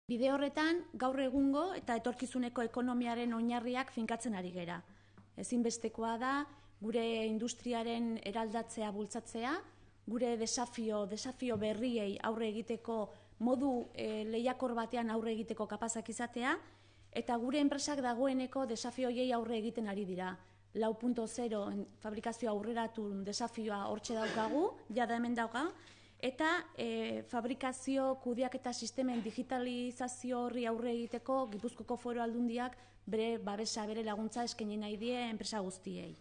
Bide horretan, gaur egungo eta etorkizuneko ekonomiaren oinarriak finkatzen ari gera. Ezinbestekoa da, gure industriaren eraldatzea bultzatzea, gure desafio berriei aurre egiteko modu lehiakor batean aurre egiteko kapazak izatea, eta gure enpresak dagoeneko desafioiei aurre egiten ari dira. 4.0 fabrikazioa aurreratu desafioa hortxe daukagu, jada hemen dauka, eta fabrikazio kudeaketa sistemen digitalizazio horri aurre egiteko Gipuzkoako Foru Aldundiak bere babesa, bere laguntza eskaini nahi die enpresa guztiei.